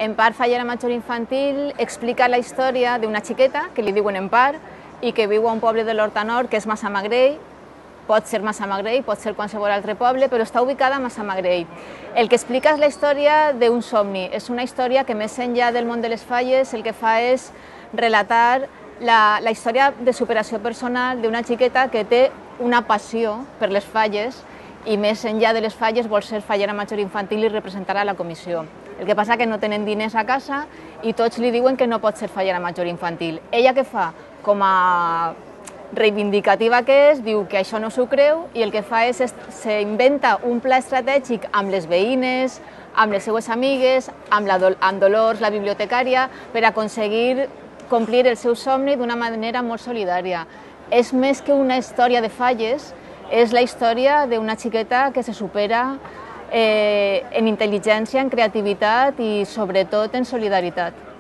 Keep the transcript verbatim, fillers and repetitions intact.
Empar Fallera Major Infantil explica la història d'una xiqueta que li diuen Empar i que viu a un poble de l'Horta Nord que és Massamagrell. Pot ser Massamagrell, pot ser qualsevol altre poble, però està ubicada a Massamagrell. El que explica és la història d'un somni. És una història que més enllà del món de les falles el que fa és relatar la, la història de superació personal d'una xiqueta que té una passió per les falles i més enllà de les falles vol ser fallera major infantil i representar a la comissió. El que passa que no tenen diners a casa i tots li diuen que no pot ser fallera major infantil. Ella què fa? Com a reivindicativa que és, diu que això no s'ho creu i el que fa és s'inventa un pla estratègic amb les veïnes, amb les seues amigues, amb, la, amb Dolors, la bibliotecària, per aconseguir complir el seu somni d'una manera molt solidària. És més que una història de falles, és la història d'una xiqueta que se supera eh, en intel·ligència, en creativitat i sobretot en solidaritat.